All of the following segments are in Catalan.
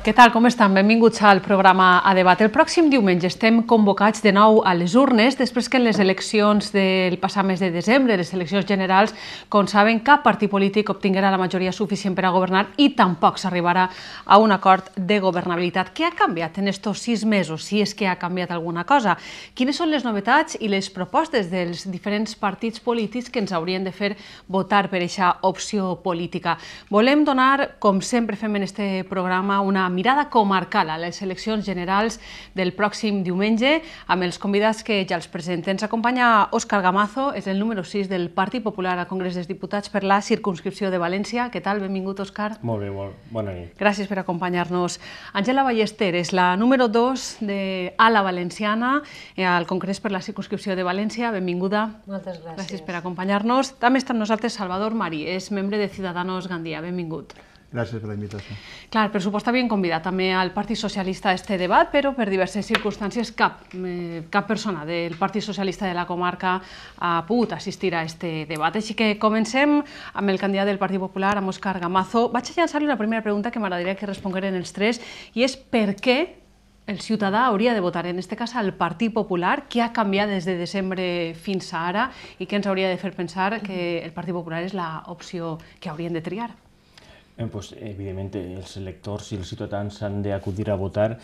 Què tal, com estan? Benvinguts al programa A Debat. El pròxim diumenge estem convocats de nou a les urnes, després que en les eleccions del passat mes de desembre, les eleccions generals, com saben, cap partit polític obtinguerà la majoria suficient per a governar i tampoc s'arribarà a un acord de governabilitat. Què ha canviat en estos 6 mesos, si és que ha canviat alguna cosa? Quines són les novetats i les propostes dels diferents partits polítics que ens haurien de fer votar per aquesta opció política? Volem donar, com sempre fem en este programa, una mirada comarcal a les eleccions generals del pròxim diumenge amb els convidats que ja els presenten. Ens acompanya Òscar Gamazo, és el número 6 del Partit Popular al Congrés dels Diputats per la circumscripció de València. Què tal? Benvingut, Òscar. Molt bé, bona nit. Gràcies per acompanyar-nos. Àngela Ballester és la número 2 de Ala Valenciana al Congrés per la circumscripció de València. Benvinguda. Moltes gràcies. Gràcies per acompanyar-nos. També està amb nosaltres Salvador Marí, és membre de Ciudadanos Gandia. Benvingut. Gràcies per la invitació. Clar, per supost havien convidat també al Partit Socialista a este debat, però per diverses circumstàncies cap persona del Partit Socialista de la comarca ha pogut assistir a este debat. Així que comencem amb el candidat del Partit Popular, amb Òscar Gamazo. Vaig a llançar-li una primera pregunta que m'agradaria que respongueren els tres, i és per què el ciutadà hauria de votar, en aquest cas, al Partit Popular, què ha canviat des de desembre fins a ara i què ens hauria de fer pensar que el Partit Popular és l'opció que haurien de triar. Evidentment, els electors i els ciutadans han d'acudir a votar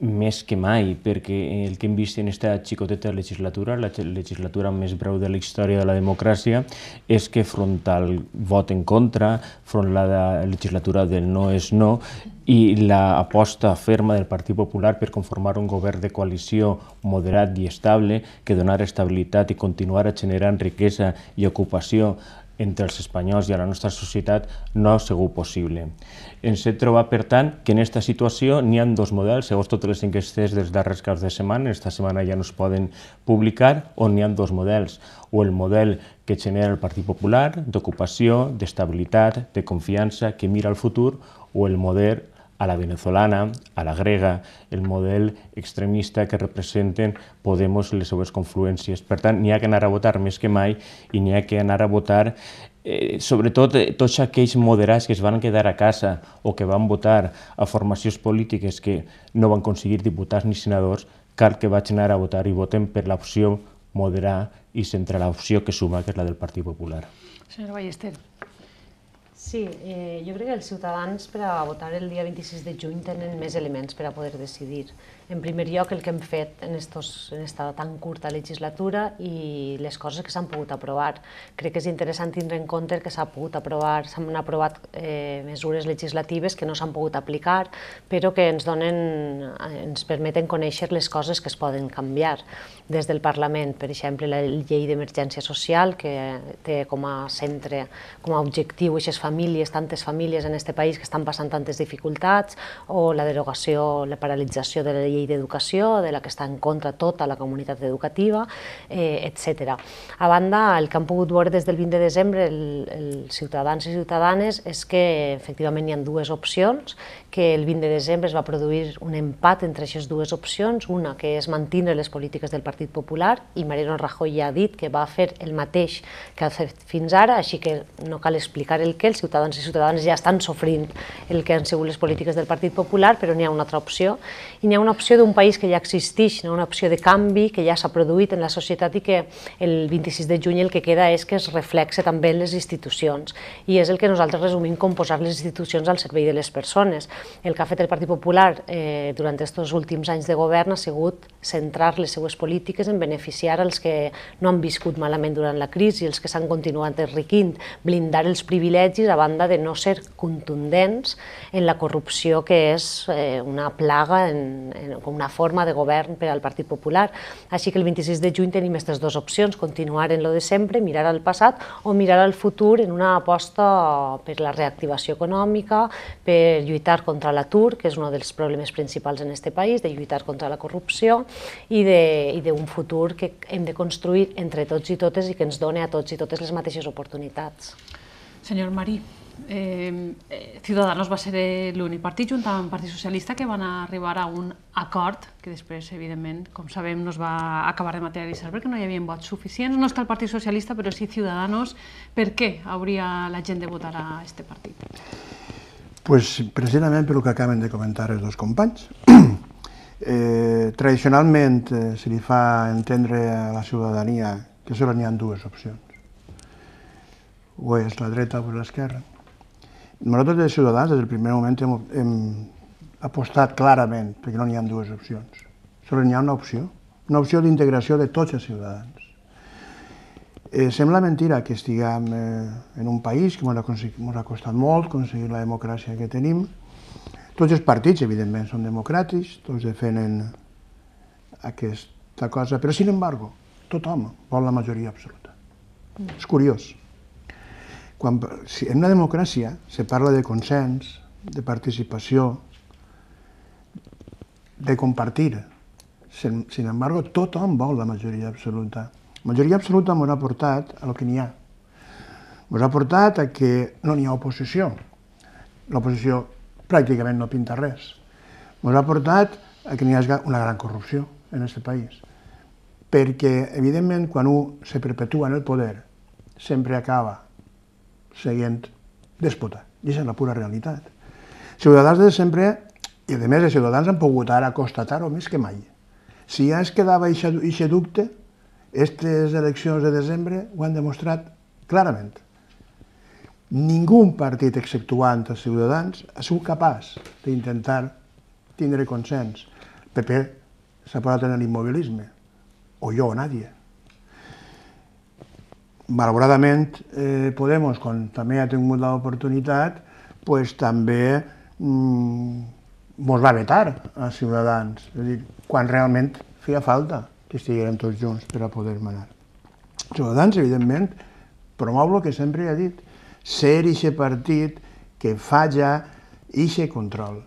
més que mai, perquè el que hem vist en aquesta xicoteta legislatura, la legislatura més breu de la història de la democràcia, és que front al vot en contra, front a la legislatura del no és no, i l'aposta ferma del Partit Popular per conformar un govern de coalició moderat i estable, que donar estabilitat i continuar generant riquesa i ocupació entre els espanyols i a la nostra societat no ha sigut possible. Ens hem trobat, per tant, que en aquesta situació n'hi ha 2 models, segons totes les enquestes dels darrers caps de setmana, esta setmana ja no es poden publicar, on n'hi ha 2 models, o el model que genera el Partit Popular, d'ocupació, d'estabilitat, de confiança, que mira al futur, o el model a la venezolana, a la grega, el model extremista que representen Podemos i les seves confluències. Per tant, n'hi ha que anar a votar més que mai i n'hi ha que anar a votar sobretot tots aquells moderats que es van quedar a casa o que van votar a formacions polítiques que no van aconseguir diputats ni senadors, cal que vagin anar a votar i voten per l'opció moderada i centre l'opció que suma, que és la del Partit Popular. Senyora Ballester. Sí, jo crec que els ciutadans per a votar el dia 26 de juny tenen més elements per a poder decidir. En primer lloc, el que hem fet en esta tan curta legislatura i les coses que s'han pogut aprovar. Crec que és interessant tindre en compte que s'han aprovat mesures legislatives que no s'han pogut aplicar, però que ens permeten conèixer les coses que es poden canviar des del Parlament. Per exemple, la llei d'emergència social, que té com a centre, com a objectiu, aquestes famílies, tantes famílies en aquest país que estan passant tantes dificultats, o la derogació, la paralització de la llei d'educació, de la que està en contra tota la comunitat educativa, etc. A banda, el que han pogut veure des del 20 de desembre els ciutadans i ciutadanes és que efectivament hi ha 2 opcions, que el 20 de desembre es va produir un empat entre aquestes 2 opcions, una que és mantenir les polítiques del Partit Popular, i Mariano Rajoy ja ha dit que va fer el mateix que ha fet fins ara, així que no cal explicar el què, els ciutadans i ciutadanes ja estan sofrint el que han sigut les polítiques del Partit Popular, però n'hi ha una altra opció, i n'hi ha una opció d'un país que ja existeix, una opció de canvi que ja s'ha produït en la societat i que el 26 de juny el que queda és que es reflexe també en les institucions, i és el que nosaltres resumim com posar les institucions al servei de les persones. El que ha fet el Partit Popular durant aquests últims anys de govern ha sigut centrar les seues polítiques en beneficiar els que no han viscut malament durant la crisi, els que s'han continuat enriquint, blindar els privilegis a banda de no ser contundents en la corrupció que és una plaga, una forma de govern per al Partit Popular. Així que el 26 de juny tenim aquestes dues opcions, continuar en lo de sempre, mirar al passat o mirar al futur en una aposta per la reactivació econòmica, per lluitar contra l'atur, que és un dels problemes principals en aquest país, de lluitar contra la corrupció i d'un futur que hem de construir entre tots i totes i que ens doni a tots i totes les mateixes oportunitats. Senyor Marí, Ciudadanos va ser l'únic partit, junt amb el Partit Socialista, que van arribar a un acord que després, evidentment, com sabem, no es va acabar de materialitzar perquè no hi havia vots suficients. No està el Partit Socialista, però sí Ciudadanos. Per què hauria la gent de votar a aquest partit? Pues precisament pel que acaben de comentar els dos companys. Tradicionalment se li fa entendre a la ciutadania que sols n'hi ha dues opcions. O és la dreta o l'esquerra. Nosaltres, de Ciutadans, des del primer moment hem apostat clarament perquè no n'hi ha dues opcions. Sols n'hi ha una opció d'integració de tots els ciutadans. Sembla mentira que estiguem en un país que ens ha costat molt aconseguir la democràcia que tenim. Tots els partits, evidentment, són democràtics, tots defenen aquesta cosa, però, sin embargo, tothom vol la majoria absoluta. És curiós. En una democràcia se parla de consens, de participació, de compartir. Sin embargo, tothom vol la majoria absoluta. La majoria absoluta ens ha portat a lo que n'hi ha. Ens ha portat a que no n'hi ha oposició. L'oposició pràcticament no pinta res. Ens ha portat a que n'hi hagi una gran corrupció en aquest país. Perquè, evidentment, quan un se perpetua en el poder, sempre acaba seguint déspota. I aquesta és la pura realitat. Ciutadans de sempre, i a més els ciutadans han pogut ara constatar-ho més que mai. Si ja es quedava aquest dubte, aquestes eleccions de desembre ho han demostrat clarament. Ningú partit, exceptuant els ciutadans, ha sigut capaç d'intentar tindre consens. El PP s'ha posat en l'immobilisme, o jo o nadie. Malauradament, Podemos, quan també ha tingut l'oportunitat, també ens va vetar a Ciutadans, és a dir, quan realment feia falta que estiguérem tots junts per a poder manar. Ciutadans, evidentment, promou el que sempre ha dit, ser aquest partit que falla aquest control,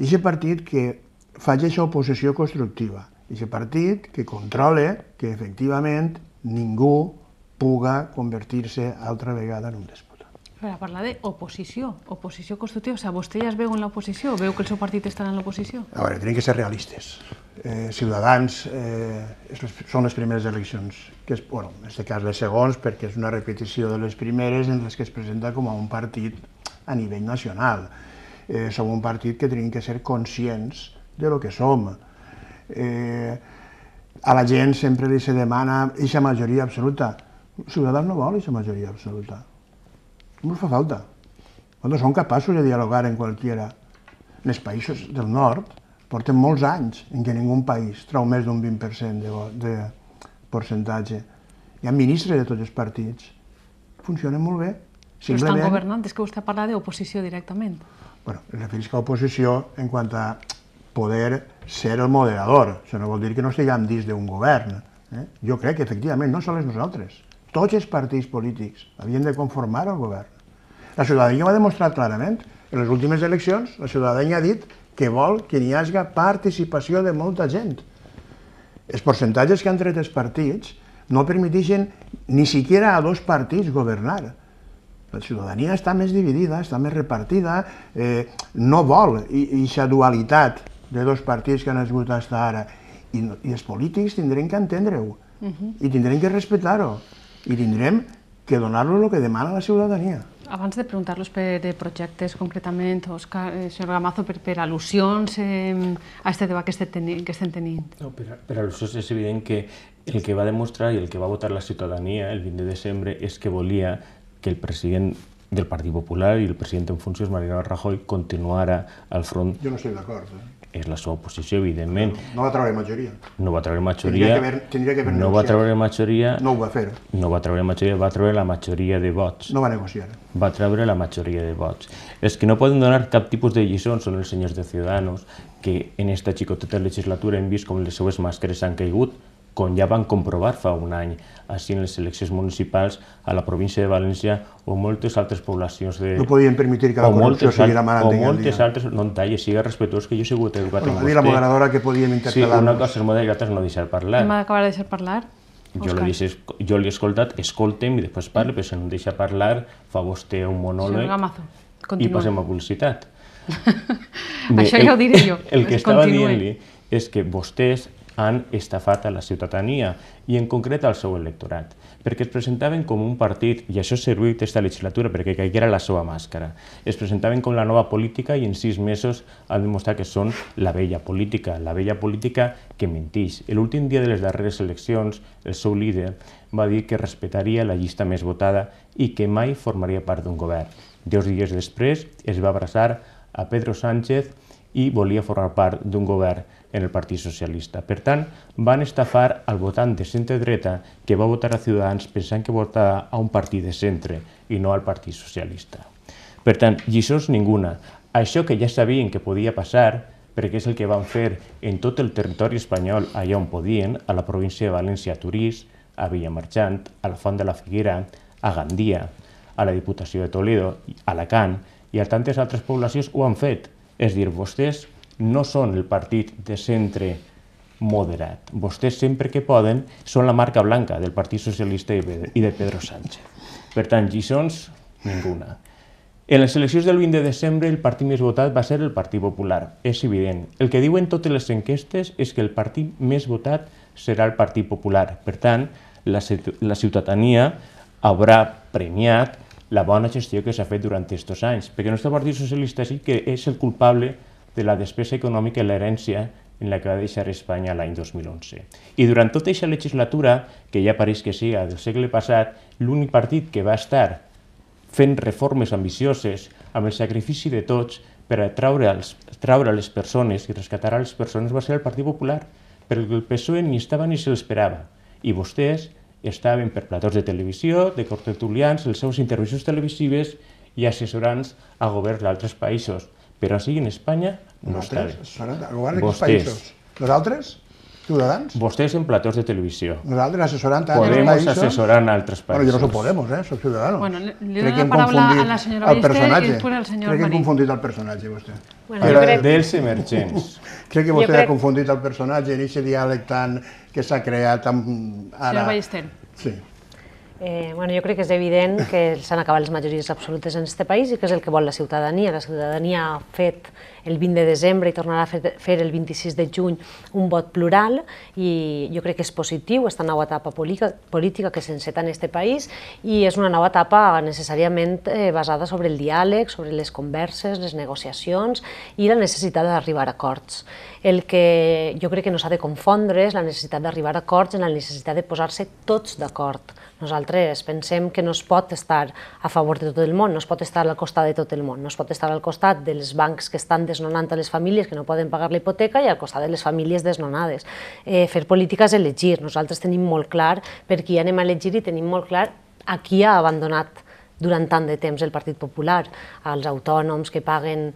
aquest partit que falla aquesta oposició constructiva, aquest partit que controla que efectivament ningú puga convertir-se altra vegada en un déspota. Per a parlar d'oposició, oposició constructiva, o sigui, vostè ja es veu en l'oposició? Veu que el seu partit estarà en l'oposició? A veure, tenim que ser realistes. Ciutadans són les primeres eleccions, que és, bueno, en aquest cas les segons, perquè és una repetició de les primeres en les que es presenta com a un partit a nivell nacional. Som un partit que tenim que ser conscients de lo que som. A la gent sempre li se demana aquesta majoria absoluta. Ciutadans no vol aquesta majoria absoluta. No ens fa falta. Nosaltres som capaços de dialogar en qualsevol. En els països del nord porten molts anys en què ningú país trau més d'un 20% de percentatge. Hi ha ministres de tots els partits. Funcionen molt bé. Però estan governant, és que vostè parla d'oposició directament. Bueno, es refereix a oposició en quant a poder ser el moderador. Això no vol dir que no estiguem dins d'un govern. Jo crec que, efectivament, no sols nosaltres. Tots els partits polítics havien de conformar el govern. La ciutadania ho ha demostrat clarament. En les últimes eleccions, la ciutadania ha dit que vol que hi hagi participació de molta gent. Els percentatges que han tret els partits no permeteixen ni siquiera a dos partits governar. La ciutadania està més dividida, està més repartida, no vol aquesta dualitat de dos partits que han esgut fins ara. I els polítics tindrem que entendre-ho, i tindrem que respectar-ho, i tindrem que donar-los el que demana la ciutadania. Abans de preguntar-los per projectes concretament, senyor Gamazo, per al·lusions a aquest debat que estem tenint. Per al·lusions és evident que el que va demostrar i el que va votar la ciutadania el 20 de desembre és que volia que el president del Partit Popular i el president en funcions, Mariano Rajoy, continuara al front. Jo no estic d'acord. és la seva posició, evidentment. No va treure majoria. No va treure majoria. Tindria que haver no va treure majoria. No ho va fer. No va treure majoria, va treure la majoria de vots. No va negociar. Va treure la majoria de vots. És que no poden donar cap tipus de lliçons, són els senyors de Ciudadanos, que en esta xicoteta legislatura hem vist com les seues màscares han caigut, com ja van comprovar fa un any, així en les eleccions municipals a la província de València o moltes altres poblacions de... No podien permetre que la corrupció seguira manant en el dia. O moltes altres... No en talles, siga respectuós, que jo he sigut educat en vostè. Dir la moderadora que podíem interpel·lar-nos. Sí, una cosa és moderar i l'altra és no deixar parlar. Hem d'acabar de deixar parlar. Jo l'he escoltat, escoltem i després parle, però si no em deixa parlar, fa vostè un monòleg i passem a publicitat. Això ja ho diré jo. El que estava dient-li és que vostès han estafat a la ciutadania i en concret al seu electorat, perquè es presentaven com un partit, i això ha servit aquesta legislatura perquè caiguera la seva màscara, es presentaven com la nova política i en 6 mesos han demostrat que són la vella política que mentix. L'últim dia de les darreres eleccions, el seu líder va dir que respectaria la llista més votada i que mai formaria part d'un govern. 2 dies després es va abraçar a Pedro Sánchez i volia formar part d'un govern en el Partit Socialista. Per tant, van estafar al votant de centre-dreta que va votar a Ciutadans pensant que votava a un partit de centre i no al Partit Socialista. Per tant, lliçons ninguna. Això que ja sabien que podia passar, perquè és el que van fer en tot el territori espanyol allà on podien, a la província de València, a Torís, a Villamarchant, a la Font de la Figuera, a Gandia, a la Diputació de Toledo, a Alacant i a tantes altres poblacions ho han fet. És dir, vostès no són el partit de centre moderat. Vostès sempre que poden són la marca blanca del Partit Socialista i de Pedro Sánchez. Per tant, lliçons, ninguna. En les eleccions del 20 de desembre el partit més votat va ser el Partit Popular. És evident. El que diuen totes les enquestes és que el partit més votat serà el Partit Popular. Per tant, la ciutadania haurà premiat la bona gestió que s'ha fet durant aquests anys, perquè el nostre Partit Socialista sí que és el culpable de la despesa econòmica i l'herència en la que va deixar Espanya l'any 2011. I durant tota aquesta legislatura, que ja pareix que siga del segle passat, l'únic partit que va estar fent reformes ambicioses amb el sacrifici de tots per a traure les persones i rescatar a les persones va ser el Partit Popular, perquè el PSOE ni estava ni se l'esperava. I vostès estaven per platós de televisió, de cortertulians, les seves intervencions televisives i assessorants a governs d'altres països. Però així en Espanya no estaven. A govern de quins països? Nosaltres? Ciutadans? Vostès en platós de televisió. Nosaltres assessorant a altres Podemos països? assessorant a altres països. Bueno, jo no soc Podemos, soc Ciudadanos. Bueno, li dono la paraula a la senyora Ballester i després al senyor Marí. Crec que he confundit el personatge, vostè. Dels emergents. Crec que vostè ha confundit el personatge en aquest diàleg tant que s'ha creat ara. Senyora Ballester. Sí. Jo crec que és evident que s'han acabat les majories absolutes en aquest país i que és el que vol la ciutadania. La ciutadania ha fet el 20 de desembre i tornarà a fer el 26 de juny un vot plural i jo crec que és positiu aquesta nova etapa política que s'enceta en aquest país i és una nova etapa necessàriament basada sobre el diàleg, sobre les converses, les negociacions i la necessitat d'arribar a acords. El que jo crec que no s'ha de confondre és la necessitat d'arribar a acords en la necessitat de posar-se tots d'acord. Nosaltres pensem que no es pot estar a favor de tot el món, no es pot estar al costat de tot el món, no es pot estar al costat dels bancs que estan desnonant a les famílies que no poden pagar la hipoteca i al costat de les famílies desnonades. Fer política és elegir, nosaltres tenim molt clar per qui anem a elegir i tenim molt clar a qui ha abandonat durant tant de temps el Partit Popular, als autònoms que paguen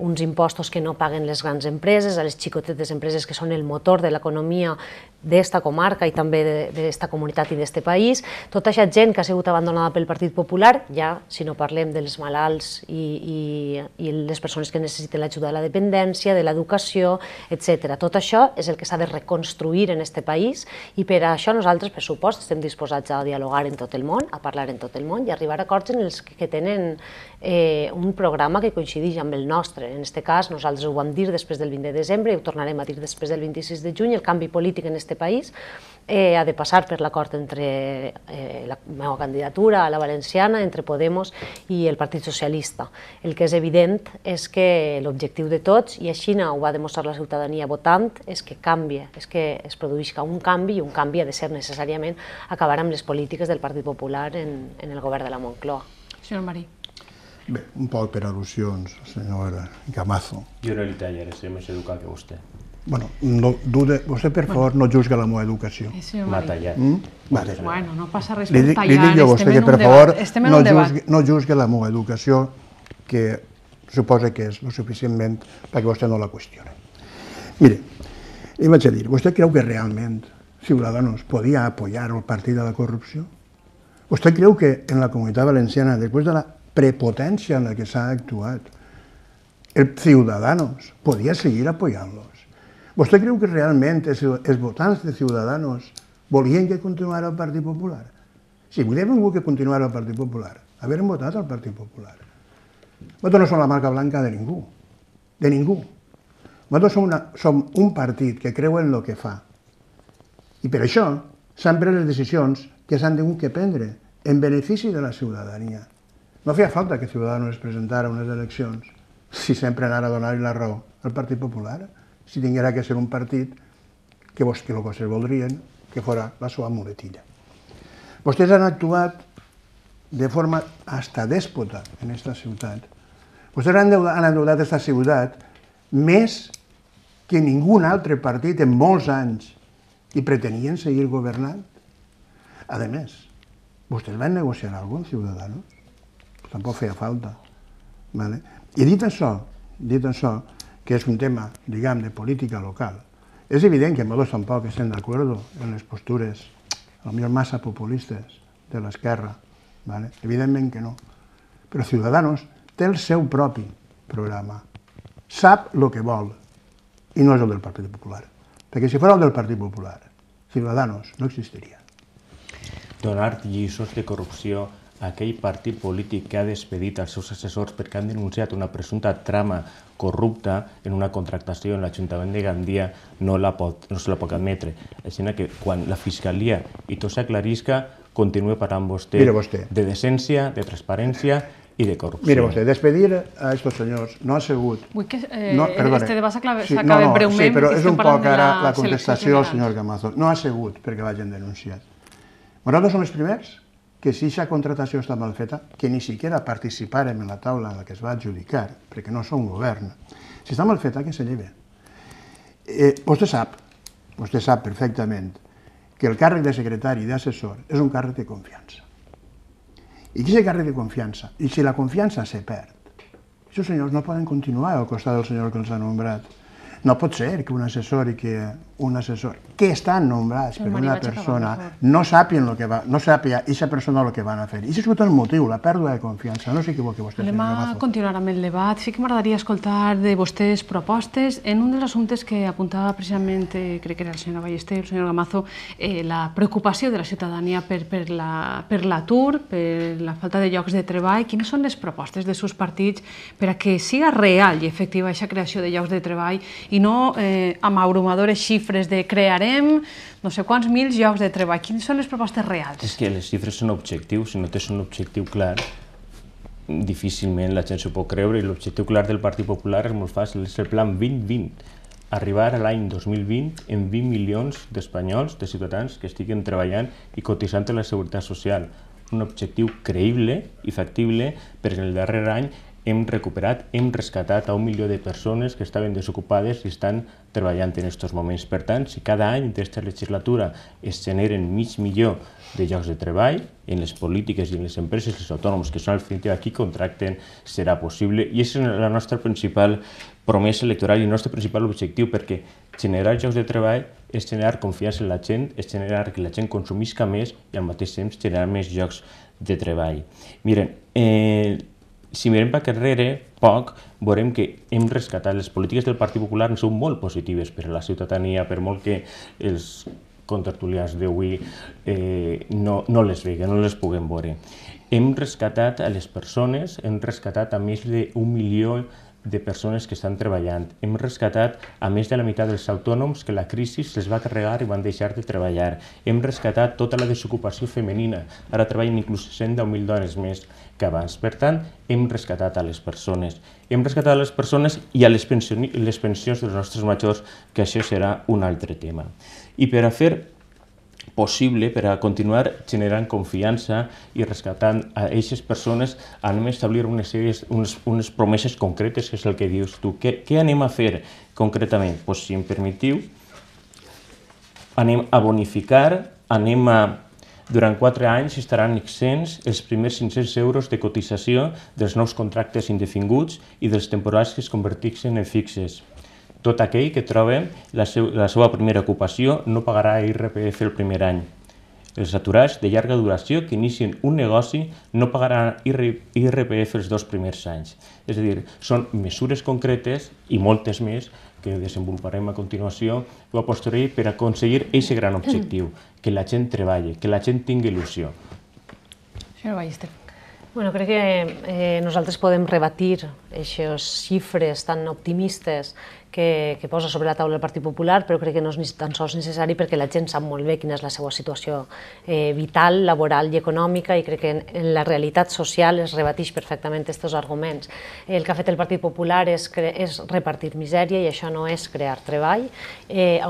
uns impostos que no paguen les grans empreses, a les xicotetes empreses que són el motor de l'economia d'esta comarca i també d'esta comunitat i d'este país. Tota aquesta gent que ha sigut abandonada pel Partit Popular, ja si no parlem dels malalts i les persones que necessiten l'ajuda de la dependència, de l'educació, etc. Tot això és el que s'ha de reconstruir en este país i per això nosaltres, per supost, estem disposats a dialogar en tot el món, a parlar en tot el món i arribar a acords en els que tenen un programa que coincideix amb el nostre. En aquest cas, nosaltres ho vam dir després del 20 de desembre i ho tornarem a dir després del 26 de juny. El canvi polític en aquest país ha de passar per l'acord entre la meva candidatura a la valenciana, entre Podemos i el Partit Socialista. El que és evident és que l'objectiu de tots, i així ho va demostrar la ciutadania votant, és que canvia, és que es produïsca un canvi i un canvi ha de ser necessàriament acabar amb les polítiques del Partit Popular en el govern de la Moncloa. Senyor Marí. Bé, un poc per al·lusions, senyor Gamazo. Jo no li tallaré, ser més educat que vostè. Bueno, vostè, per favor, no juzga la meva educació. M'ha tallat. Vale. Bueno, no passa res Li per dic tallar, jo a vostè que, per favor, no juzgue la meva educació, que suposa que és lo suficientment perquè vostè no la qüestioni. Mire, li vaig a dir, vostè creu que realment Ciudadanos podia apoyar el partit de la corrupció? Vostè creu que en la Comunitat Valenciana, després de la prepotència en la que s'ha actuat, el Ciudadanos podia seguir apoyant-los? Vostè creu que realment els votants de Ciudadanos volien que continuara el Partit Popular? Si volien que continuara el Partit Popular, haurien votat al Partit Popular. Nosaltres no som la marca blanca de ningú, de ningú. Nosaltres som un partit que creu en el que fa. I per això s'han pres les decisions que s'han hagut de prendre en benefici de la ciutadania. No feia falta que Ciudadanos es presentara a unes eleccions si sempre anara a donar-li la raó al Partit Popular, si tinguera que ser un partit que el que vostès voldrien que fos la seva muletilla. Vostès han actuat de forma hasta déspota en aquesta ciutat. Vostès han endeutat aquesta ciutat més que ningú altre partit en molts anys i pretenien seguir governant. A més, vostès van negociar alguna cosa amb Ciudadanos? Tampoc feia falta. I dit això, que és un tema, diguem, de política local, és evident que nosaltres tampoc estem d'acord en les postures, potser massa populistes, de l'esquerra. Evidentment que no. Però Ciudadanos té el seu propi programa. Sap el que vol. I no és el del Partit Popular. Perquè si fos el del Partit Popular, Ciudadanos no existiria. Donar lliçons de corrupció a aquell partit polític que ha despedit els seus assessors perquè han denunciat una presumpta trama corrupta en una contractació en l'Ajuntament de Gandia no se la pot admetre. Així que quan la Fiscalia i tot s'aclarisca, continua parlant vostè de decència, de transparència i de corrupció. Mire vostè, despedir a aquests senyors no ha sigut... Vull que este debat s'acabi breument. Sí, però és un poc ara la contestació al senyor Gamazo. No ha sigut perquè l'hagin denunciat. Nosaltres som els primers que si aquesta contratació està mal feta, que ni siquiera participàrem en la taula en la que es va adjudicar, perquè no som govern, si està mal feta, que se lleve. Vostè sap perfectament que el càrrec de secretari i d'assessor és un càrrec de confiança. I aquest càrrec de confiança, i si la confiança se perd, aquests senyors no poden continuar al costat del senyor que els ha nombrat. No pot ser que un assessor que estan nombrats per una persona no sàpiga aquesta persona el que van a fer. I això és el motiu, la pèrdua de confiança. No s'equivoqui vostè, senyor Gamazo. Anem a continuar amb el debat. Sí que m'agradaria escoltar de vostès propostes. En un dels assumptes que apuntava precisament, crec que era el senyor Ballester, el senyor Gamazo, la preocupació de la ciutadania per l'atur, per la falta de llocs de treball. Quines són les propostes dels seus partits per a que siga real i efectiva aquesta creació de llocs de treball i no amb abrumadores xifres de crearem no sé quants mil llocs de treball. Quines són les propostes reals? És que les xifres són objectius. Si no tens un objectiu clar, difícilment la gent s'ho pot creure. I l'objectiu clar del Partit Popular és molt fàcil, és el Plan 2020. Arribar a l'any 2020 amb 20 milions d'espanyols, de ciutadans que estiguen treballant i cotitzant a la Seguretat Social. Un objectiu creïble i factible perquè en el darrer any hem rescatat a 1 milió de persones que estaven desocupades i estan treballant en aquests moments. Per tant, si cada any d'aquesta legislatura es generen mig milió de llocs de treball, en les polítiques i en les empreses, els autònoms que són al final qui contracten, serà possible. I és la nostra principal promesa electoral i el nostre principal objectiu, perquè generar llocs de treball és generar confiança en la gent, és generar que la gent consumisca més i al mateix temps generar més llocs de treball. Miren, si mirem per darrere, poc, veurem que hem rescatat. Les polítiques del Partit Popular són molt positives per a la ciutadania, per molt que els contertulians d'avui no les veguen, no les puguem veure. Hem rescatat a les persones, hem rescatat a més d'1 milió de persones que estan treballant. Hem rescatat a més de la meitat dels autònoms que la crisi se'ls va carregar i van deixar de treballar. Hem rescatat tota la desocupació femenina. Ara treballen inclús 110.000 dones més que abans. Per tant, hem rescatat a les persones. Hem rescatat a les persones i a les pensions dels nostres majors, que això serà un altre tema. I per a fer possible per a continuar generant confiança i rescatant a aquestes persones. Anem a establir unes promeses concretes, que és el que dius tu. Què anem a fer concretament? Doncs, si em permetiu, anem a bonificar, durant 4 anys estaran exents els primers 500 euros de cotització dels nous contractes indefinguts i dels temporals que es converteixen en fixes. Tot aquell que troba la seva primera ocupació no pagarà IRPF el primer any. Els aturats de llarga duració que inicien un negoci no pagaran IRPF els 2 primers anys. És a dir, són mesures concretes i moltes més que desenvoluparem a continuació a posteriori per aconseguir aquest gran objectiu, que la gent treballi, que la gent tingui il·lusió. Senyora Ballester. Bueno, crec que nosaltres podem rebatir aquestes xifres tan optimistes que posa sobre la taula el Partit Popular, però crec que no és ni tan sols necessari perquè la gent sap molt bé quina és la seva situació vital, laboral i econòmica, i crec que en la realitat social es rebateix perfectament aquests arguments. El que ha fet el Partit Popular és repartir misèria, i això no és crear treball.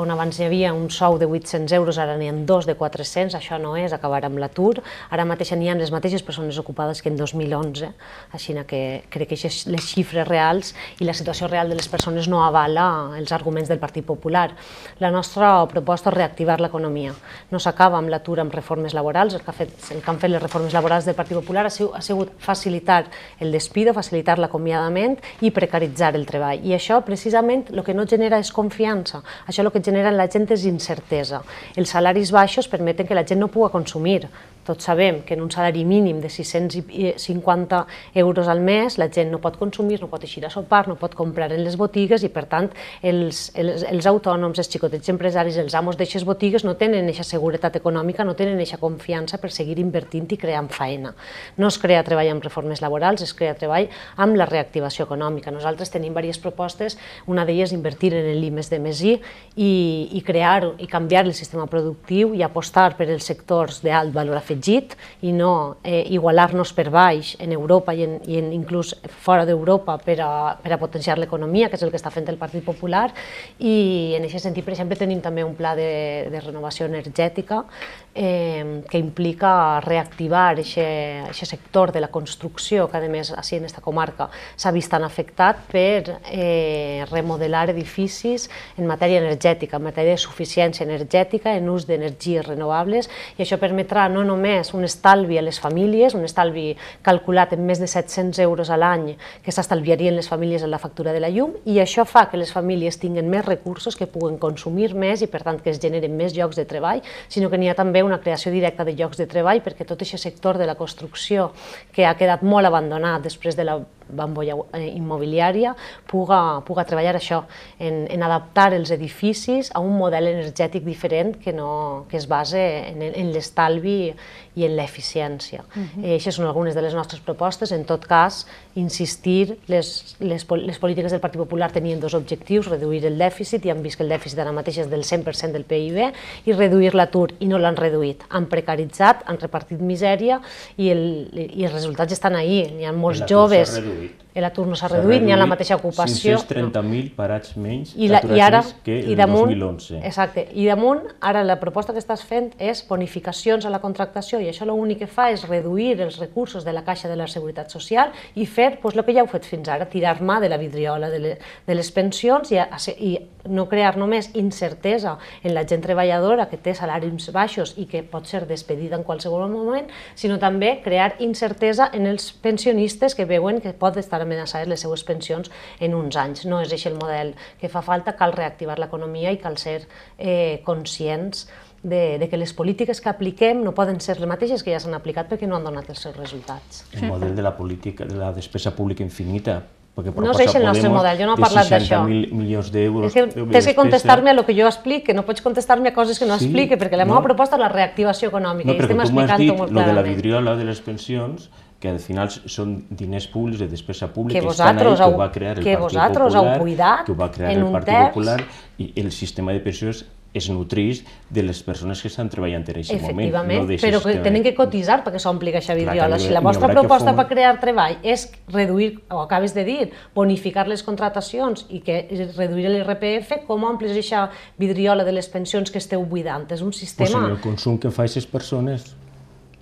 On abans hi havia un sou de 800 euros, ara n'hi ha 2 de 400, això no és acabar amb l'atur. Ara mateix n'hi ha les mateixes persones ocupades que en 2011, així que crec que les xifres reals i la situació real de les persones no avala els arguments del Partit Popular. La nostra proposta és reactivar l'economia. No s'acaba amb l'atur amb reformes laborals. El que han fet les reformes laborals del Partit Popular ha sigut facilitar el despido, facilitar l'acomiadament i precaritzar el treball. I això, precisament, el que no genera és confiança. Això el que genera en la gent és incertesa. Els salaris baixos permeten que la gent no pugui consumir. Tots sabem que en un salari mínim de 650 euros al mes la gent no pot consumir, no pot eixir a sopar, no pot comprar en les botigues, i per tant els autònoms, els xicotets empresaris, els amos d'aixes botigues no tenen aquesta seguretat econòmica, no tenen aquesta confiança per seguir invertint i creant feina. No es crea treball amb reformes laborals, es crea treball amb la reactivació econòmica. Nosaltres tenim diverses propostes, una d'elles invertir en l'I+D+I i crear i canviar el sistema productiu i apostar per els sectors d'alt valor afegit i no igualar-nos per baix en Europa i inclús fora d'Europa per a potenciar l'economia, que és el que està fent el Partit Popular. I en aquest sentit, per exemple, tenim també un pla de renovació energètica que implica reactivar aquest sector de la construcció, que a més, així en aquesta comarca, s'ha vist tan afectat per remodelar edificis en matèria energètica, en matèria de suficiència energètica, en ús d'energies renovables, i això permetrà no només un estalvi a les famílies, un estalvi calculat en més de 700 euros a l'any que s'estalviarien les famílies en la factura de la llum, i això fa que les famílies tinguin més recursos, que puguen consumir més i per tant que es generen més llocs de treball, sinó que n'hi ha també una creació directa de llocs de treball perquè tot aquest sector de la construcció que ha quedat molt abandonat després de la bombolla immobiliària puga treballar això, en adaptar els edificis a un model energètic diferent que es basa en l'estalvi i en l'eficiència. Aquestes són algunes de les nostres propostes. En tot cas, insistir, les polítiques del Partit Popular tenien 2 objectius: reduir el dèficit, i han vist que el dèficit ara mateix és del 100% del PIB, i reduir l'atur, i no l'han reduït. Han precaritzat, han repartit misèria, i els resultats estan ahí. Hi ha molts joves... L'atur no s'ha reduït, n'hi ha la mateixa ocupació. 530.000 parats menys aturats que el 2011. Exacte. I damunt, ara la proposta que estàs fent és bonificacions a la contractació, i això l'únic que fa és reduir els recursos de la Caixa de la Seguretat Social i fer el que ja heu fet fins ara, tirar mà de la vidriola de les pensions i no crear només incertesa en la gent treballadora que té salaris baixos i que pot ser despedida en qualsevol moment, sinó també crear incertesa en els pensionistes que veuen que pot estar amenaçades les seues pensions en uns anys. No és aquest el model que fa falta. Cal reactivar l'economia i cal ser conscients de que les polítiques que apliquem no poden ser les mateixes que ja s'han aplicat perquè no han donat els seus resultats. El model de la política, de la despesa pública infinita, no és el nostre model, jo no he parlat d'això. De 60.000 milions d'euros de despesa. Tens que contestar-me a el que jo explique, no pots contestar-me a coses que no explique, perquè la meva proposta és la reactivació econòmica, i estem explicant-ho molt clarament. No, però tu m'has dit, lo de la vidriola de les pensions, que al final són diners públics de despesa pública, que vosaltres heu cuidat que ho va crear el Partit Popular, i el sistema de pensions es nutrís de les persones que estan treballant en aquest moment. Efectivament, però que tenen que cotitzar perquè s'ompli aquesta vidriola. Si la vostra n'hi haurà proposta per crear treball és reduir, o acabes de dir, bonificar les contratacions i que reduir l'IRPF, com omplis aquesta vidriola de les pensions que esteu buidant? És un Pues sistema... en el consum que fa aquestes persones.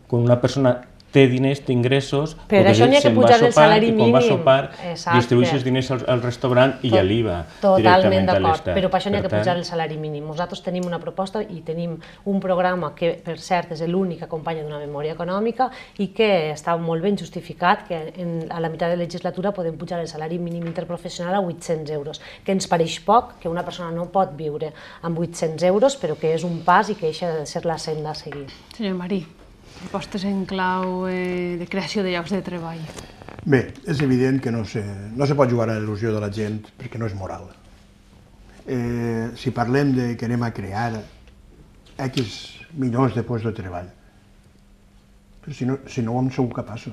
Quan una persona té diners, té ingressos, Per això n'hi ha que pujar el salari i quan va mínim. sopar Exacte. distribueix els diners al restaurant i ja l'IVA Totalment directament a d'acord, l'Estat. però per això n'hi ha que Per tant, pujar el salari mínim. Nosaltres tenim una proposta i tenim un programa que, per cert, és l'únic que acompanya d'una memòria econòmica i que està molt ben justificat, que a la meitat de legislatura podem pujar el salari mínim interprofessional a 800 euros, que ens pareix poc, que una persona no pot viure amb 800 euros, però que és un pas i que això ha de ser la senda a seguir. Senyor Marí, propostes en clau de creació de llocs de treball. Bé, és evident que no se pot jugar a la il·lusió de la gent perquè no és moral. Si parlem de que anem a crear X milions de llocs de treball, però si no ho hem sigut capaços.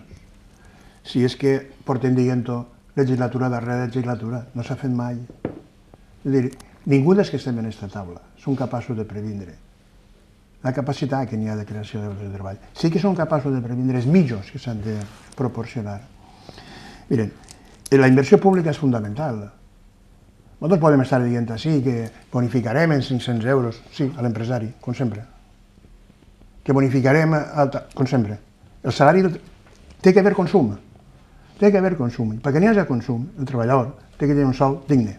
Si és que portem dient-ho legislatura darrere legislatura, no s'ha fet mai. És a dir, ningú dels que estem en aquesta taula són capaços de previndre la capacitat que n'hi ha de creació de llocs de treball. Sí que són capaços de previndre els mitjans que s'han de proporcionar. Miren, la inversió pública és fundamental. Nosaltres podem estar dient així que bonificarem en 500 euros, sí, a l'empresari, com sempre. Que bonificarem, com sempre. El salari té que haver consum. Té que haver consum. I perquè n'hi hagi consum, el treballador té que tenir un sou digne.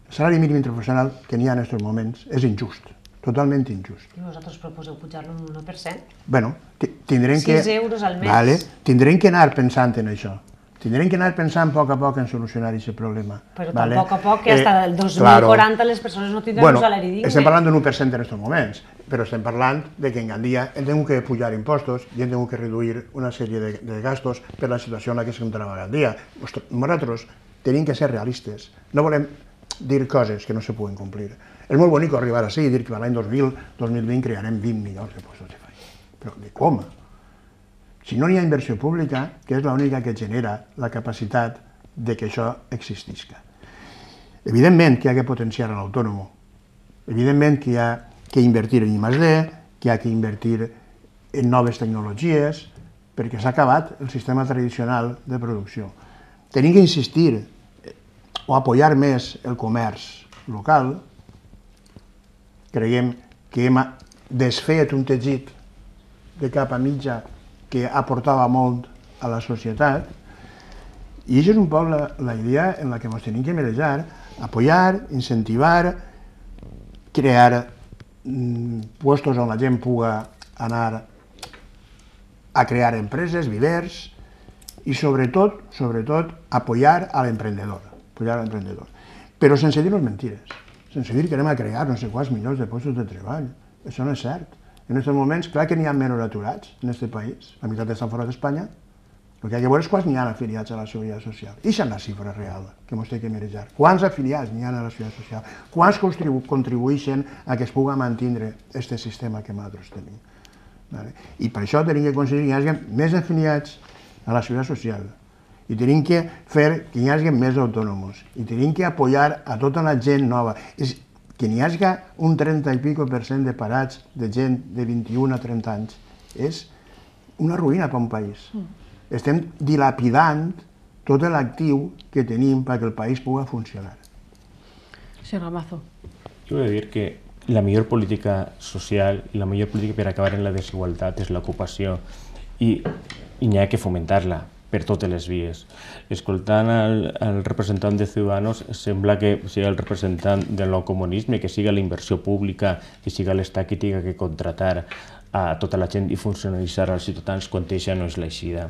El salari mínim interprofessional que n'hi ha en aquests moments és injust. Totalment injust. I vosaltres proposeu pujar-lo un 1%? Bueno, tindrem que... 6 euros al mes. Vale, tindrem que anar pensant en això. Tindrem que anar pensant a poc en solucionar aquest problema. Però vale? tampoc a poc que hasta el 2040 les persones no tindran un salari digne. Estem parlant d'un 1% en aquests moments, però estem parlant de que en Gandia hem tingut que pujar impostos i hem tingut que reduir una sèrie de gastos per la situació en la que estem treballant Gandia. Nosaltres tenim que ser realistes. No volem dir coses que no se poden complir. És molt bonic arribar així i dir que l'any 2020 crearem 20 milions de llocs de treball. Però de com? Si no hi ha inversió pública, que és l'única que genera la capacitat de que això existisca. Evidentment que hi ha que potenciar l'autònom. Evidentment que hi ha que invertir en I+D, que hi ha que invertir en noves tecnologies, perquè s'ha acabat el sistema tradicional de producció. Tenim que insistir o apoyar més el comerç local. Creiem que hem desfet un teixit de cap a mitja que aportava molt a la societat i això és un poc la idea en la que ens tenim que manejar, apoyar, incentivar, crear puestos on la gent pugui anar a crear empreses, vivers i sobretot apoyar a l'emprendedor, però sense dir-nos mentires. Sense dir que anem a crear no sé quants milions de llocs de treball. Això no és cert. En aquests moments, clar que n'hi ha menys aturats en aquest país, la meitat estan fora d'Espanya, el que hi ha que veure és quants n'hi ha afiliats a la Seguretat Social. I és la xifra real que ens té que manejar. Quants afiliats n'hi ha a la Seguretat Social? Quants contribueixen a que es pugui mantenir aquest sistema que nosaltres tenim? I per això tenim que aconseguir que hi hagi més afiliats a la Seguretat Social. I tenim que fer que hi hagi més autònoms, i tenim que apoyar a tota la gent nova. Que n'hi hagi un 30 i pico % de parats de gent de 21 a 30 anys és una ruïna per un país. Estem dilapidant tot l'actiu que tenim perquè el país pugui funcionar. Senyor Gamazo. Jo he de dir que la millor política social i la millor política per acabar en la desigualtat és l'ocupació i n'hi ha que fomentar-la per totes les vies. Escoltant el representant de Ciudadanos, sembla que sigui el representant del nou comunisme, que siga la inversió pública, que siga l'Estat que tingui que contratar a tota la gent i funcionalitzar als ciutadans quan això no és l'aixida.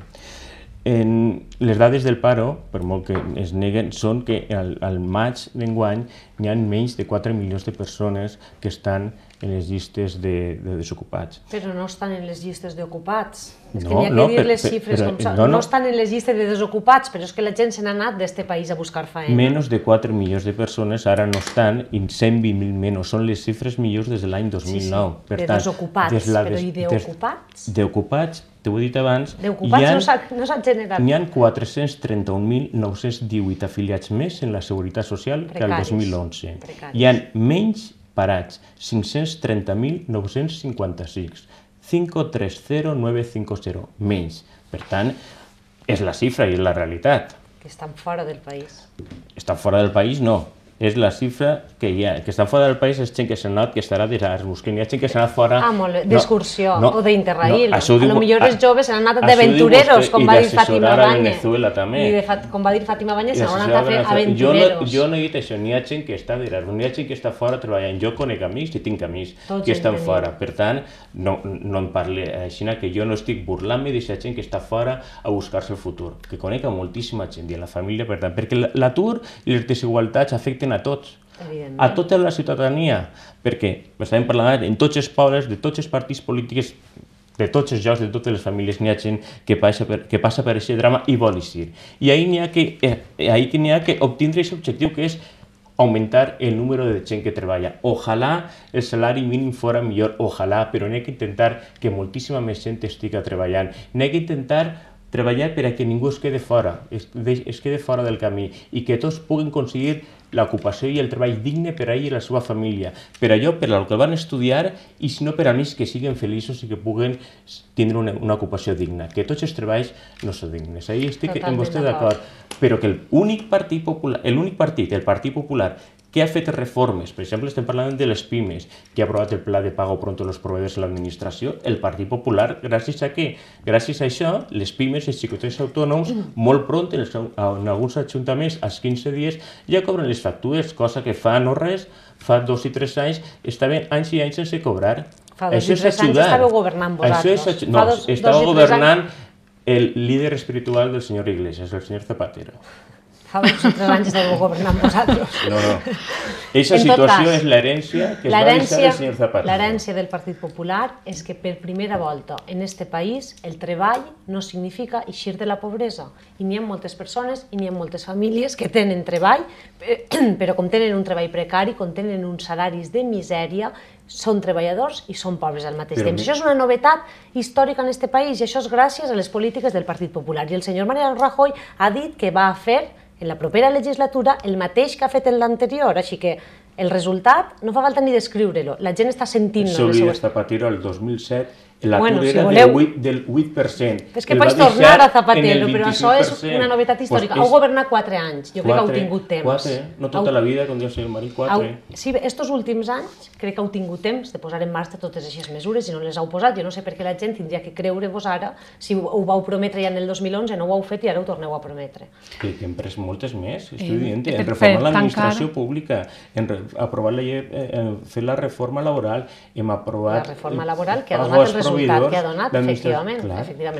Les dades del paro, per molt que es neguen, són que al maig d'enguany n'hi ha menys de 4 milions de persones que estan en les llistes de desocupats. Però no estan en les llistes d'ocupats. És que n'hi ha que dir les xifres com són. No estan en les llistes de desocupats, però és que la gent se n'ha anat d'este país a buscar feina. Menys de 4 milions de persones ara no estan, i 120.000 menys. Són les xifres millors des de l'any 2009. De desocupats, però i d'ocupats? D'ocupats, t'ho he dit abans, d'ocupats no s'han generat. N'hi ha 431.918 afiliats més en la Seguretat Social que el 2011. Hi ha menys parats, 530.956, 530.950, menys. Per tant, és la xifra i és la realitat. Que estan fora del país. Estan fora del país, no. És la xifra que hi ha. Que estan fora del país és gent que s'ha anat, que estarà d'Erasmus, que n'hi ha gent que s'ha anat fora... Molt bé, d'excursió o d'Interrail. A lo millor els joves s'han anat d'aventureros, com va dir Fàtima Báñez. I com va dir Fàtima Báñez, s'han anat a fer aventureros. Jo no he dit això, n'hi ha gent que està d'Erasmus, n'hi ha gent que està fora treballant. Jo conec amics i tinc amics que estan fora. Per tant, no em parli així, que jo no estic burlant-me d'aquesta gent que està fora a buscar-se el futur, que conec a moltíssima gent i a la família, per tant, perquè l'atur i les desigualtats afecten a tots, a tota la ciutadania, perquè estàvem parlant en tots els pobles, de tots els partits polítics, de tots els llocs, de totes les famílies, n'hi ha gent que passa per aquest drama i vol eixir. I ahir n'hi ha que obtindre aquest objectiu, que és augmentar el número de gent que treballa. Ojalà el salari mínim fora millor, ojalà, però n'hi ha que intentar que moltíssima més gent estigui treballant. N'hi ha que intentar treballar per a que ningú es quede fora, es quede fora del camí i que tots puguen aconseguir l'ocupació i el treball digne per a ell i la seva família, per allò per al que van estudiar i si no per a més que siguin feliços i que puguen tindre una ocupació digna, que tots els treballs no són dignes. Ahí estic amb vostè d'acord, però que l'únic partit popular, el Partit Popular, que ha fet reformes, per exemple, estem parlant de les pimes, que ha aprovat el pla de pago pronto a los proveedors de l'administració, el Partit Popular, gràcies a què? Gràcies a això, les pimes, els xicotets autònoms, molt pront, en alguns ajuntaments, als 15 dies, ja cobren les factures, cosa que fa no res, fa 2 i 3 anys, estaven anys i anys sense cobrar. Fa 2 i 3 anys estàveu governant vosaltres. No, estava governant el líder espiritual del senyor Iglesias, el senyor Zapatero. Fa 2 o 3 anys estàveu governant vosaltres. No. Eixa situació és l'herència que es va deixar el senyor Zapatero. L'herència del Partit Popular és que per primera volta en este país el treball no significa eixir de la pobresa. I n'hi ha moltes persones i n'hi ha moltes famílies que tenen treball, però com tenen un treball precari, com tenen uns salaris de misèria, són treballadors i són pobres al mateix temps. Això és una novetat històrica en este país i això és gràcies a les polítiques del Partit Popular. I el senyor Mariano Rajoy ha dit que va fer en la propera legislatura el mateix que ha fet en l'anterior, així que el resultat no fa falta ni descriure-lo, la gent està sentint-lo. El seu líder Zapatero el 2007, l'atur era del 8%. És que pots tornar a Zapatero, però això és una novetat històrica. Heu governat 4 anys, jo crec que heu tingut temps. 4, no tota la vida, com diu el senyor Marí, 4. Sí, estos últims anys crec que heu tingut temps de posar en marxa totes aquestes mesures i no les heu posat. Jo no sé per què la gent tindria que creure-vos ara, si ho vau prometre ja en el 2011, no ho heu fet i ara ho torneu a prometre. Que hem pres moltes més, estic dient, en reformar l'administració pública, en aprovar la llei, fer la reforma laboral, hem aprovat... La reforma laboral que ha donat el resultat que ha donat, efectivament,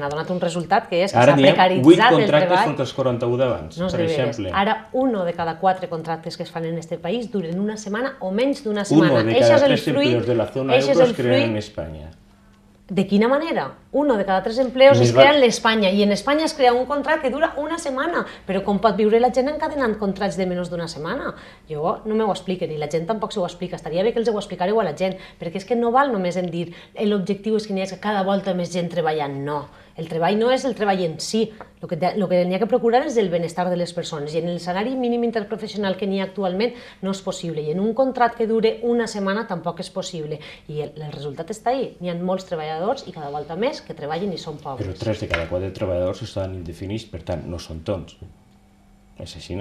ha donat un resultat que és que s'ha precaritzat el treball. Ara n'hi ha 8 contractes contra els 41 d'abans, per exemple. Ara, 1 de cada 4 contractes que es fan en este país duren una setmana o menys d'una setmana. 1 de cada 3 empleos de la zona euro es crean en Espanya. ¿De quina manera? 1 de cada 3 empleos es crea en Espanya i en Espanya es crea un contracte que dura una setmana, però com pot viure la gent encadenant contractes de menys d'una setmana? Jo no m'ho expliquen i la gent tampoc s'ho explica, estaria bé que els ho explicareu a la gent, perquè és que no val només en dir l'objectiu és que n'hi hagi cada volta més gent treballant, no. El treball no és el treball en si, el que n'hi ha que procurar és el benestar de les persones i en el salari mínim interprofessional que n'hi ha actualment no és possible i en un contracte que dure una setmana tampoc és possible i el resultat està ahí, n'hi ha molts treballadors i cada volta més que treballen i són pobres. Però 3 de cada 4 treballadors estan indefinits, per tant no són tonts, és així.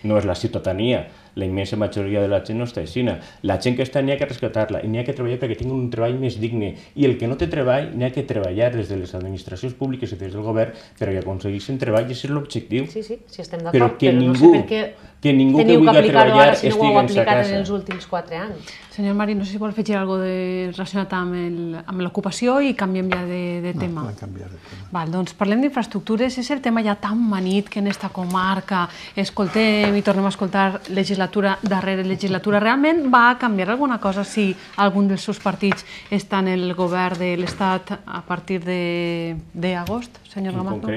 No és la ciutadania, la immensa majoria de la gent no està així. La gent que està n'hi ha que rescatar-la i n'hi ha que treballar perquè tingui un treball més digne i el que no té treball n'hi ha que treballar des de les administracions públiques i des del govern perquè aconsegueixin treball i això és l'objectiu. Sí, estem d'acord, però no sé per què teniu que aplicar-ho ara si no ho heu aplicat en els últims 4 anys. Senyor Marí, no sé si vol afegir alguna cosa relacionat amb l'ocupació i canviem ja de tema. No, podem canviar de tema. Val, doncs parlem d'infraestructures, és el tema ja tan manit que en esta comarca escoltem i tornem a escoltar legislatura darrere legislatura. Realment va canviar alguna cosa si algun dels seus partits està en el govern de l'Estat a partir d'agost, senyor Gamazo?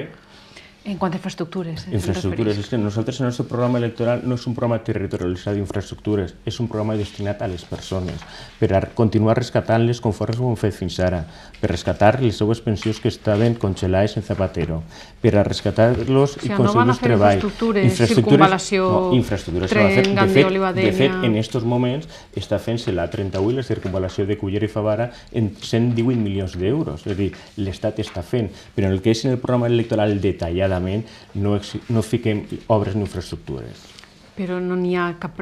En quant a infraestructures. Infraestructures. És que nosaltres el nostre programa electoral no és un programa territorialitzat d'infraestructures, és un programa destinat a les persones, per a continuar rescatant-les conforme ho hem fet fins ara, per rescatar les seues pensions que estaven congelades en Zapatero, per a rescatar-los i aconseguir treball. Infraestructures, tren, Gandia, Olivadenia... De fet, en aquests moments està fent-se la 31 i la circunvalació de Cullera i Favara en 118 milions d'euros. És a dir, l'Estat està fent, però en el que és en el programa electoral detalladament no fiquem obres ni infraestructures. Però no n'hi ha cap...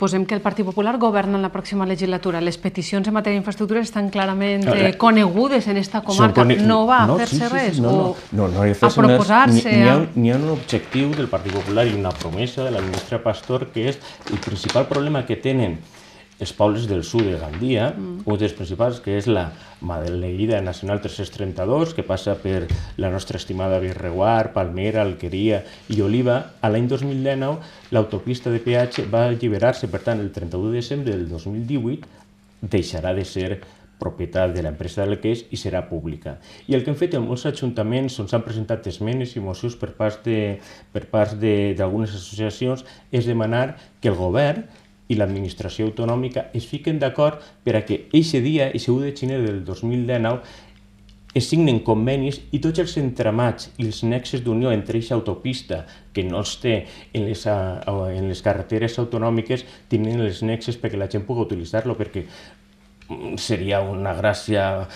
Posem que el Partit Popular governa en la pròxima legislatura. Les peticions en matèria d'infraestructures estan clarament conegudes en esta comarca. No va a fer-se res? No, a proposar-se... N'hi ha un objectiu del Partit Popular i una promesa de la ministra Pastor, que és el principal problema que tenen els pobles del sud de Gandia, un dels principals, que és la Maleïda Nacional 332, que passa per la nostra estimada Birreguar, Palmera, Alqueria i Oliva. A l'any 2019, l'autopista de peatge va alliberar-se, per tant, el 31 de desembre del 2018 deixarà de ser propietat de l'empresa del que és i serà pública. I el que han fet en molts ajuntaments on s'han presentat esmenes i mocions per part d'algunes associacions és demanar que el govern i l'administració autonòmica es fiquen d'acord per a que eixe dia, eixe 1 de gener del 2019, es signen convenis i tots els entramats i els nexes d'unió entre aquesta autopista, que no els té en les carreteres autonòmiques, tenen els nexes perquè la gent pugui utilitzar-lo, perquè seria una gràcia,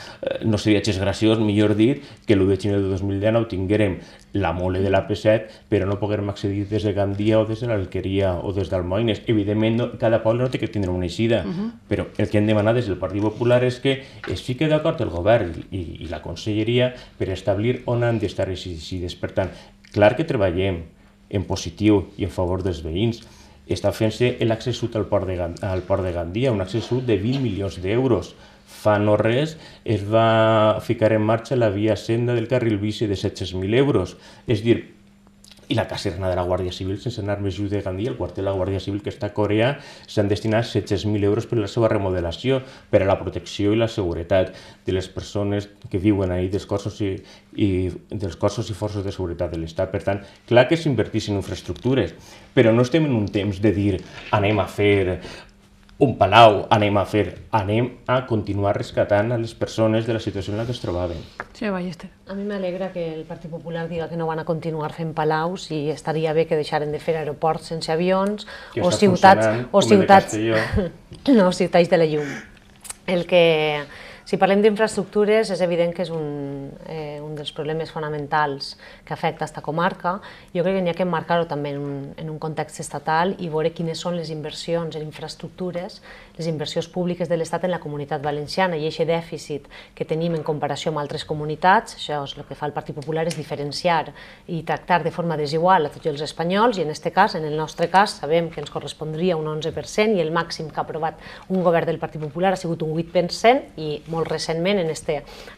no seria gens graciós, millor dit, que l'1 de gener de 2019 tinguérem la mole de l'AP7, però no poguérem accedir des de Gandia o des de l'Alqueria o des d'Almoines. Evidentment, cada poble no té que tindre una eixida, però el que hem demanat des del Partit Popular és que es fiqui d'acord el govern i la conselleria per establir on han d'estar les eixides. Per tant, clar que treballem en positiu i en favor dels veïns. Està fent-se l'accés sud al port de Gandia, un accés sud de 20 milions d'euros. Fa no res es va ficar en marxa la via senda del carril bici de 700.000 euros. És dir, i la caserna de la Guàrdia Civil, sense anar més lluny de Gandia, el quartel de la Guàrdia Civil que està a Corea, s'han destinat 700.000 euros per a la seva remodelació, per a la protecció i la seguretat de les persones que viuen ahí, dels cossos i forces de seguretat de l'Estat. Per tant, clar que s'invertís en infraestructures, però no estem en un temps de dir anem a fer un palau, anem a continuar rescatant a les persones de la situació en la que es trobaven. Sí, Ballester. A mi m'alegra que el Partit Popular diga que no van a continuar fent palaus i estaria bé que deixaren de fer aeroports sense avions o ciutats de la llum. Si parlem d'infraestructures, és evident que és un dels problemes fonamentals que afecta aquesta comarca. Jo crec que n'hi ha que emmarcar-ho també en un context estatal i veure quines són les inversions en infraestructures, les inversions públiques de l'Estat en la comunitat valenciana i aquest dèficit que tenim en comparació amb altres comunitats. Això és el que fa el Partit Popular, és diferenciar i tractar de forma desigual a tots els espanyols i en el nostre cas, sabem que ens correspondria un 11% i el màxim que ha aprovat un govern del Partit Popular ha sigut un 8% i molt recentment en aquest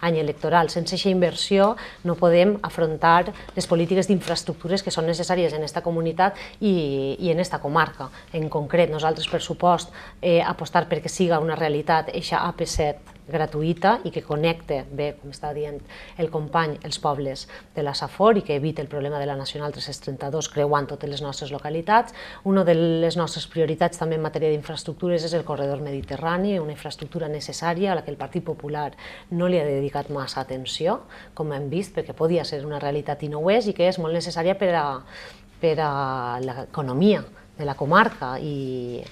any electoral. Sense aquesta inversió no podem afrontar les polítiques d'infraestructures que són necessàries en aquesta comunitat i en aquesta comarca. En concret, nosaltres per supost apostar perquè siga una realitat eixa AP7 gratuïta i que connecte bé, com està dient el company, els pobles de la Safor i que eviti el problema de la Nacional 332 creuant totes les nostres localitats. Una de les nostres prioritats també en matèria d'infraestructures és el corredor mediterrani, una infraestructura necessària a la que el Partit Popular no li ha dedicat massa atenció, com hem vist, perquè podia ser una realitat i no ho és, i que és molt necessària per a l'economia de la comarca i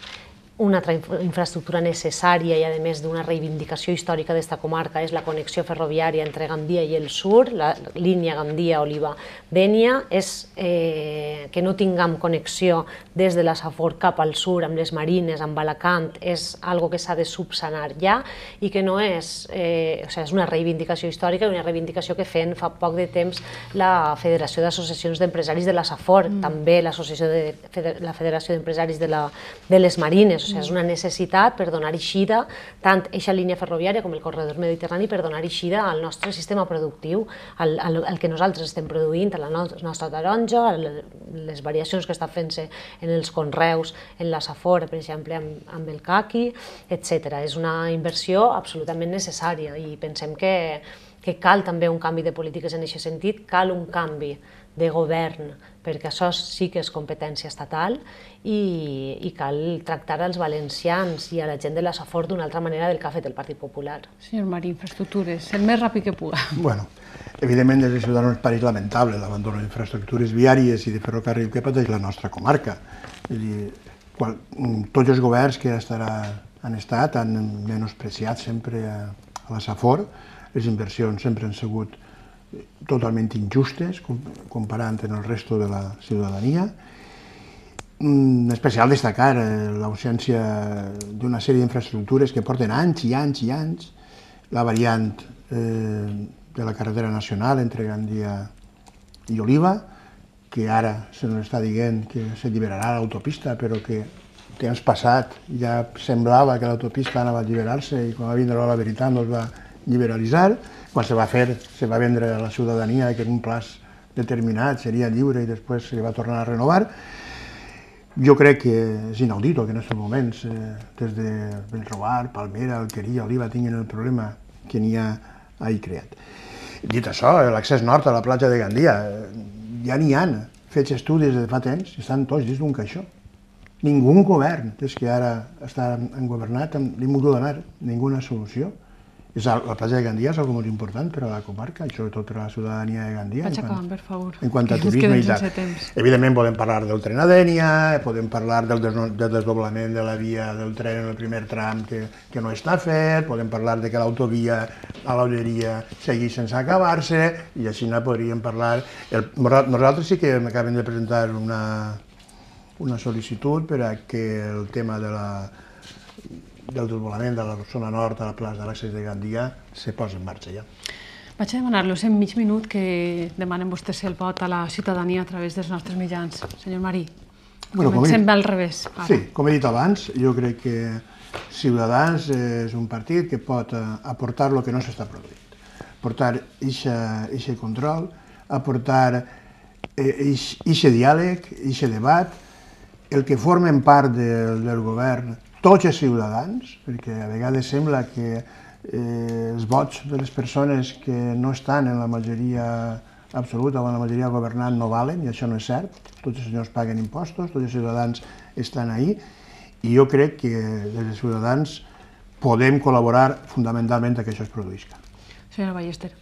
una altra infraestructura necessària i a més d'una reivindicació històrica d'esta comarca és la connexió ferroviària entre Gandia i el sur, la línia Gandia-Oliva-Dénia, és que no tinguem connexió des de la Safor cap al sur amb les Marines, amb Alacant, és algo que s'ha de subsanar ja i que no és, és una reivindicació històrica i una reivindicació que feien fa poc de temps la Federació d'Associacions d'Empresaris de la Safor, també la Federació d'Empresaris de les Marines. O sigui, és una necessitat per donar eixida, tant eixa línia ferroviària com el corredor mediterrani, per donar eixida al nostre sistema productiu, al que nosaltres estem produint, a la nostra taronja, a les variacions que està fent-se en els conreus, en la Safor, per exemple, amb el caqui, etc. És una inversió absolutament necessària i pensem que cal també un canvi de polítiques en aquest sentit, cal un canvi de govern, perquè això sí que és competència estatal i cal tractar als valencians i a la gent de la Safor d'una altra manera del que ha fet el Partit Popular. Senyor Marí, infraestructures, el més ràpid que puga. Bueno, evidentment des de Ciutadans pareix lamentable l'abandó d'infraestructures viàries i de ferrocarril que pateix la nostra comarca. Tots els governs que han estat han menospreciat sempre a la Safor. Les inversions sempre han sigut totalment injustes comparant amb el resto de la ciutadania. En especial destacar l'ausència d'una sèrie d'infraestructures que porten anys i anys i anys, la variant de la carretera nacional entre Gandia i Oliva, que ara se nos està dient que s'alliberarà l'autopista, però que temps passat ja semblava que l'autopista anava a alliberar-se i quan va vindre la veritat no es va liberalitzar. Quan se va fer, se va vendre a la ciutadania que en un plaç determinat seria lliure i després se va tornar a renovar. Jo crec que és inaudit que en aquests moments, des de Bellreguard, Palmera, Alqueria, Oliva, tinguin el problema que n'hi ha ahí creat. Dit això, l'accés nord a la platja de Gandia, ja n'hi han fets estudis de fa temps i estan tots dins d'un caixó. Ningú govern, des que ara han governat, li hem volgut donar ninguna solució. La platja de Gandia és una molt important per a la comarca i sobretot per a la ciutadania de Gandia. Vaig acabant, per favor. En quant a turisme i tal. Evidentment podem parlar del tren a Dénia, podem parlar del desdoblament de la via del tren en el primer tram que no està fet, podem parlar de que l'autovia a l'Olleria segueix sense acabar-se i així podríem parlar. Nosaltres sí que acabem de presentar una sol·licitud per a que el tema del desdoblament de la zona nord a la plaça de l'accés de Gandia se posa en marxa ja. Vaig a demanar-los en mig minut que demanen vostès el vot a la ciutadania a través dels nostres mitjans. Senyor Marí, comencem al revés. Sí, com he dit abans, jo crec que Ciutadans és un partit que pot aportar el que no s'està produint. Aportar aquest control, aportar aquest diàleg, aquest debat, el que formen part del govern tots els ciutadans, perquè a vegades sembla que els vots de les persones que no estan en la majoria absoluta o en la majoria governant no valen, i això no és cert. Tots els senyors paguen impostos, tots els ciutadans estan ahí, i jo crec que des de Ciutadans podem col·laborar fundamentalment que això es produïsca. Senyora Ballester.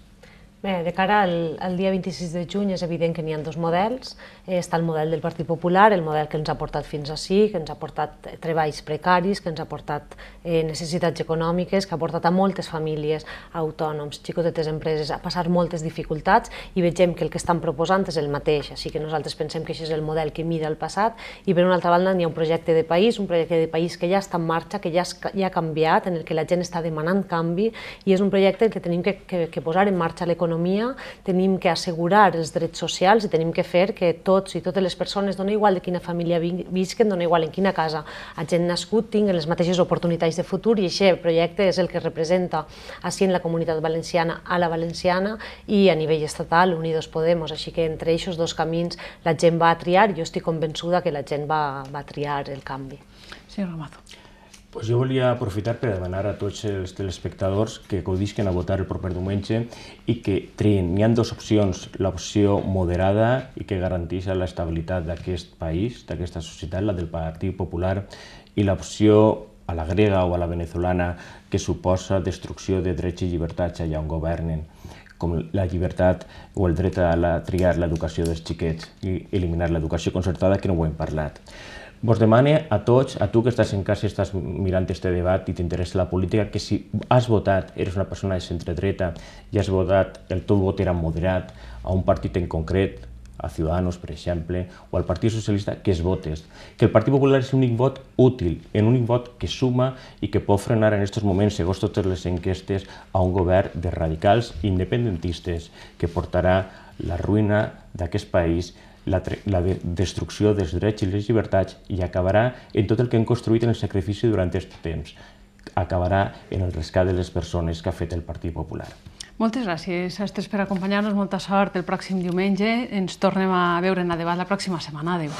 Bé, de cara al dia 26 de juny és evident que n'hi ha dos models. Està el model del Partit Popular, el model que ens ha portat fins ací, que ens ha portat treballs precaris, que ens ha portat necessitats econòmiques, que ha portat a moltes famílies, autònoms, xicotetes empreses, a passar moltes dificultats i vegem que el que estan proposant és el mateix. Així que nosaltres pensem que això és el model que mira el passat i per una altra banda n'hi ha un projecte de país que ja està en marxa, que ja ha canviat, en el que la gent està demanant canvi i és un projecte en què tenim que posar en marxa l'economia, tenim que assegurar els drets socials i tenim que fer que tots i totes les persones, dona igual de quina família visquen, dona igual en quina casa hagin nascut, tinguin les mateixes oportunitats de futur i aquest projecte és el que representa així en la comunitat valenciana a la valenciana i a nivell estatal Unidos Podemos, així que entre aquests dos camins la gent va a triar i jo estic convençuda que la gent va a triar el canvi. Senyor Ramazo. Pues jo volia aprofitar per demanar a tots els telespectadors que acudisquen a votar el proper diumenge i que triïn. N'hi ha dues opcions, l'opció moderada i que garanteix l'estabilitat d'aquest país, d'aquesta societat, la del Partit Popular, i l'opció a la grega o a la venezolana que suposa destrucció de drets i llibertats allà on governen, com la llibertat o el dret a triar l'educació dels xiquets i eliminar l'educació concertada, que no ho hem parlat. Vos demane a tots, a tu que estàs en casa i estàs mirant este debat i t'interessa la política, que si has votat, eres una persona de centredreta i has votat, el teu vot era moderat a un partit en concret, a Ciudadanos, per exemple, o al Partit Socialista, que es votes. Que el Partit Popular és l'únic vot útil, l'únic vot que suma i que pot frenar en aquests moments, segons totes les enquestes, a un govern de radicals independentistes que portarà la ruïna d'aquest país la destrucció dels drets i les llibertats i acabarà en tot el que hem construït en el sacrifici durant aquest temps. Acabarà en el rescat de les persones que ha fet el Partit Popular. Moltes gràcies, Astres, per acompanyar-nos. Molta sort el pròxim diumenge. Ens tornem a veure en A Debat la pròxima setmana. Adéu.